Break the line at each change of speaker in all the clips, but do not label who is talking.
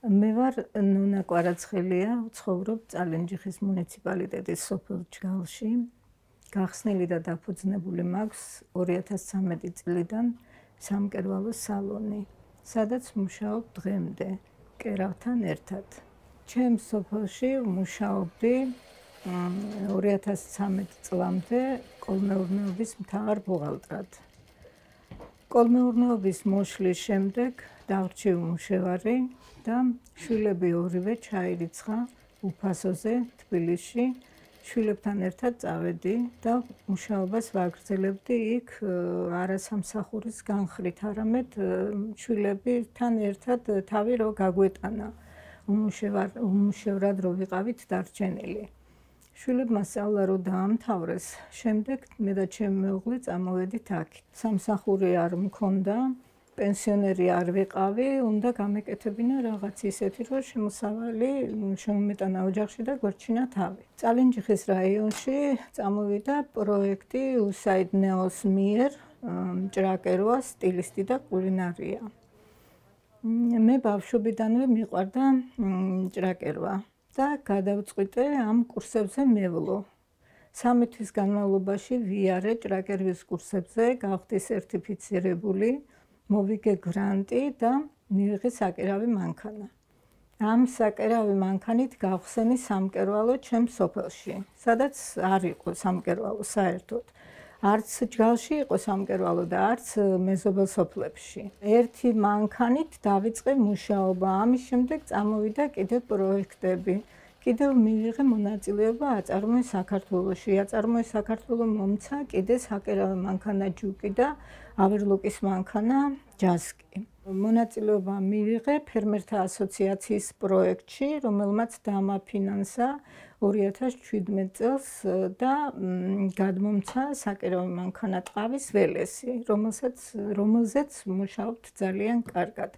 მე ვარ ნონა კვარაცხელია, ვცხოვრობ წალენჯიხის მუნიციპალიტეტის სოფელ ჯგალში. გახსნილი და დაფუძნებული მაქვს 2013 წლიდან სამკერვალო სალონი, სადაც მუშაობ დღემდე კერავთან ერთად. ჩემს სოფელში მუშაობდი 2013 წლამდე კოლმეურნეობის მთავარ ბუღალტრად. კოლმეურნეობის მოშლის შემდეგ დავრჩი უმუშევარი და შვილები ორივე ჩაირიცხა უფასოზე თბილისში. შვილებთან ერთად წავედი და მუშაობას ვაგრძელებდი იქ არა სამსახურის განხრით, არამედ შვილებთან ერთად თავი რო გაგვეტანა. უმუშევრად რო ვიყავით დარჩენილი. შვილებმა სწავლა რო დაამთავრეს, შემდეგ მე და ჩემი მეუღლე წამოვედით აქ. სამსახური არ მქონდა, პენსიონერი არ ვიყავი, უნდა გამეკეთებინა რაღაც ისეთი, რომ შემოსავალი შემომეტანა ოჯახში და გვერდჩინა თავი. წალენჯიხის რაიონში წამოვიდა პროექტი USAID NEOS მიერ ჭრაკერვა, სტილისტი და კულინარია. მე ბავშვობიდანვე მიყვარდა ჭრაკერვა და გადავწყვიტე ამ კურსებზე მევლო. 3 თვის განმავლობაში ვიარე ჭრაკერვის კურსებზე, გავხდი სერტიფიცირებული, მოვიგე გრანტი და მივიღე საკერავი მანქანა. ამ საკერავი მანქანით გავხსენი სამკერვალო ჩემს სოფელში, სადაც არ იყო სამკერვალო საერთოდ. არც ჯგალში იყო სამკერვალო და არც მეზობელ სოფლებში. ერთი მანქანით დავიწყე მუშაობა. ამის შემდეგ წამოვიდა კიდევ პროექტები. კიდევ მივიღე მონაწილეობა აწარმოე საქართველოში. აწარმოე საქართველო მომცა კიდე საკერავი მანქანა ჯუკი და ავერლოკის მანქანა ჯასკი. მონაწილეობა მივიღე ფერმერთა ასოციაციის პროექტში, რომელმაც დამაფინანსა 2017 წელს და გადმომცა საკერავი მანქანა ტყავის ველესი, რომელზეც მუშაობთ ძალიან კარგად.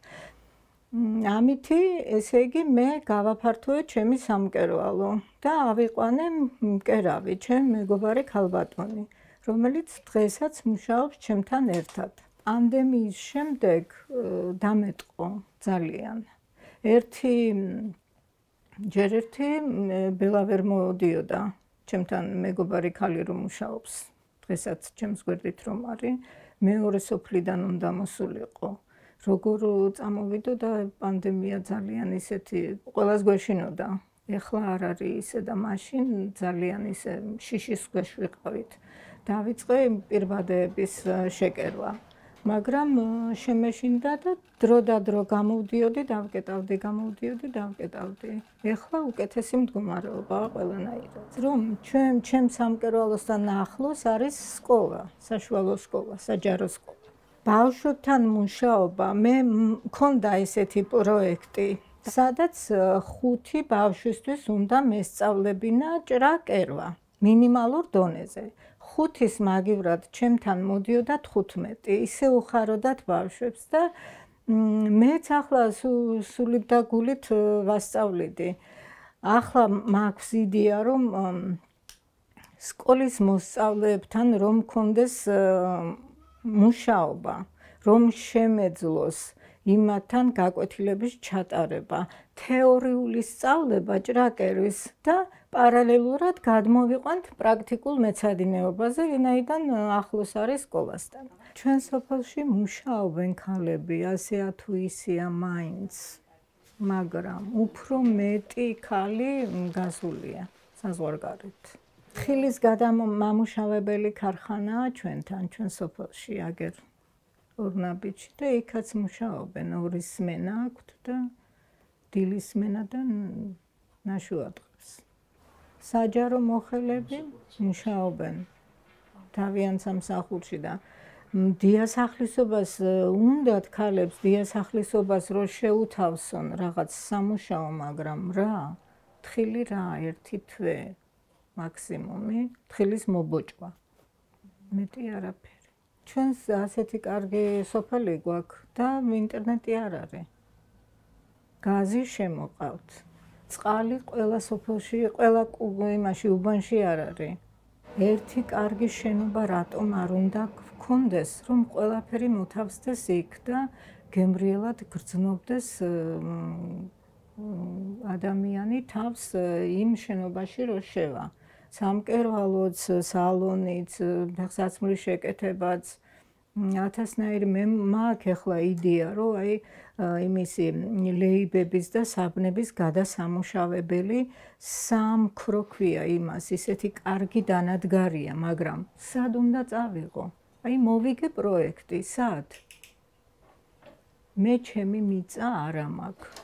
ამითი, ესე იგი, მე გავაფართოვე ჩემი სამკერვალო და ავიყვანე მკერავი, ჩემი მეგობარი ქალბატონი, რომელიც დღესაც მუშაობს ჩემთან ერთად. პანდემიის შემდეგ დამეტყო ძალიან. ჯერ ერთი ბელა ვერ მოდიოდა ჩემთან მეგობარი ქალი რომ მუშაობს, დღესაც ჩემს გვერდით რომ არის, მეორე სოფლიდან უნდა მოსულიყო. როგორ წამოვიდო და პანდემია ძალიან ისეთი ყველას გვეშინოდა. ეხლა არ არის ისე და მაშინ ძალიან ისე შიშის ქვეშ ვიყავით. დავიწყე პირბადეების შეკერვა. მაგრამ შემეშინდა და დრო და დრო გამოვდიოდი, დავკეტავდი. ეხლა უკეთესი მდგომარეობაა ყველანაირად. რომ ჩემ სამკერვალოსთან ახლოს არის სკოლა, საშუალო სკოლა, საჯარო სკოლა. ბავშვებთან მუშაობა, მე მქონდა ესეთი პროექტი, სადაც 5 ბავშვისთვის უნდა მესწავლებინა ჭრაკერვა მინიმალურ დონეზე. 5-ის მაგივრად ჩემთან მოდიოდა 15, ისე უხაროდათ ბავშვებს და მეც ახლა სულით და გულით ვასწავლიდი. ახლა მაქვს იდეა, რომ სკოლის მოსწავლეებთან რომ მქონდეს მუშაობა, რომ შემეძლოს იმათთან გაკვეთილების ჩატარება, თეორიული სწავლება ჭრაკერვის და პარალელურად გადმოვიყვანთ პრაქტიკულ მეცადინეობაზე, ვინაიდან ახლოს არის სკოლასთან. ჩვენ სოფელში მუშაობენ ქალები, ასეა თუ ისეა მაინც, მაგრამ უფრო მეტი ქალი გასულია საზღვარგარეთ. თხილის გადამამუშავებელი ქარხანაა ჩვენთან, ჩვენ სოფელში აგერ ორნაბიჯი და იქაც მუშაობენ, 2 სმენა აქვთ და დილის სმენა და ნაშუადღებს. საჯარო მოხელები მუშაობენ თავიანთ სამსახურში და დიასახლისობას უნდათ ქალებს დიასახლისობას რო შეუთავსონ რაღაც სამუშაო, მაგრამ რა, თხილი რა, 1 თვე მაქსიმუმი, თხილის მობოჭვა. მეტი არაფერი. ჩვენს ასეთი კარგი სოფელი გვაქვს და ინტერნეტი არ არის. გაზი შემოყავთ. წყალი ყველა სოფელში, ყველა იმაში უბანში არ არის. ერთი კარგი შენობა რატომ არ უნდა გქონდეს, რომ ყველაფერი მოთავსდეს იქ და გემრიელად გრძნობდეს ადამიანი თავს იმ შენობაში რო შევა. სამკერვალოც, სალონიც, ფეხსაცმლის შეკეთებაც, ათასნაირი მე მაქვს ახლა იდეა, რომ აი იმისი ლეიბების და საბნების გადასამუშავებელი სამქრო ქვია იმას, ისეთი კარგი დანადგარია, მაგრამ სად უნდა წავიღო? აი მოვიგე პროექტი, სად? მე ჩემი მიწა არა მაქვს.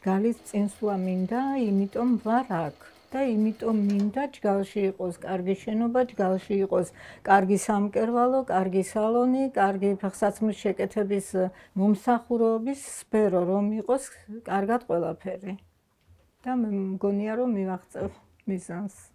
გალის წინსვლა მინდა, იმიტომ ვარ აქ. და იმიტომ მინდა ჯგალში იყოს კარგი შენობა, ჯგალში იყოს კარგი სამკერვალო, კარგი სალონი, კარგი ფეხსაცმლის შეკეთების მომსახურების სფერო, რომ იყოს კარგად ყველაფერი. და მე მგონია, რომ მივაღწევ მიზანს.